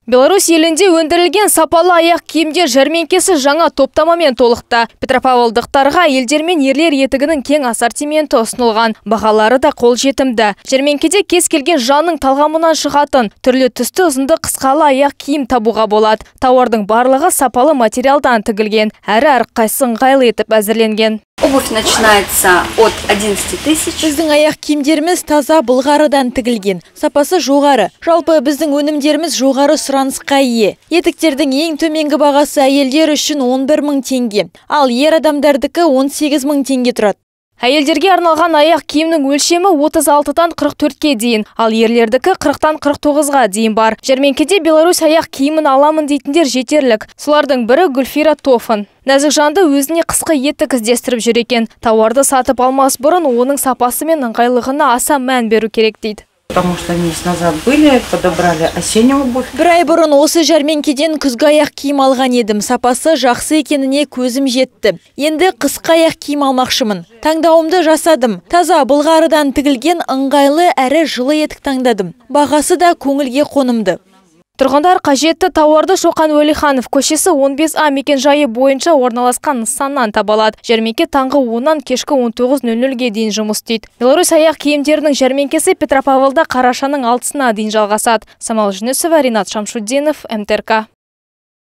Беларусь елінде өндірілген сапалы аяқ киімдер жәрмеңкесі жаңа топтамамен толықты. Петропавлдықтарға елдер мен ерлер етігінің кең ассортименті ұсынылған. Бағалары да қолжетімді. Жәрмеңкеде кез келген жанның талғамынан шығатын түрлі түсті ұзынды қысқалы аяқ киім табуға болады. Тауардың барлығы сапалы материалдан тігілген, әрі әрқайсысы ыңғайлы етіп әзірленген. Обувь начинается от 11 тысяч. Біздің аяқ киімдеріміз таза былғарыдан тігілген. Сапасы жоғары. Жалпы біздің өнімдеріміз жоғары сұранысқа ие. Етіктердің ең төменгі бағасы әйелдер үшін 11 000 теңге. Ал ер адамдардікі 18 000 теңге тұрады. Әйелдерге арналған аяқ киімнің өлшемі 36-тан 44-ке дейін, ал ерлердікі 40-тан 49-ға дейін бар. Жәрмеңкеде Беларусь аяқ киімін аламын дейтіндер жетерлік. Солардың бірі Гүлфира Тофын. Нәзік жанды өзіне қысқы етік іздестіріп жүр екен. Тауарды сатып алмас бұрын оның сапасы мен ыңғайлығына аса мән беру керек дейді. Потому что месяц назад были, подобрали осеннюю обувь. Бір ай бұрын осы жәрмеңкеден күзгі аяқ киім алған едім. Сапасы жақсы екеніне көзім жетті. Енді қысқы аяқ киім алмақшымын. Таңдауымды жасадым. Таза былғарыдан тігілген ыңғайлы әрі жылы етік таңдадым. Бағасы да көңілге қонымды. Тұрғындар қажетті тауарды Шоқан Уәлиханов көшесі 15А мекенжайы бойынша орналасқан нысаннан табалады. Жәрмеңке таңғы 10-нан кешкі 19:00-ге дейін жұмыс істейді. Беларусь аяқ киімдерінің жәрмеңкесі Петропавлда қарашаның 6-сына дейін жалғасады. Самал Жүнісова, Ринат Шамшуддинов, МТРК.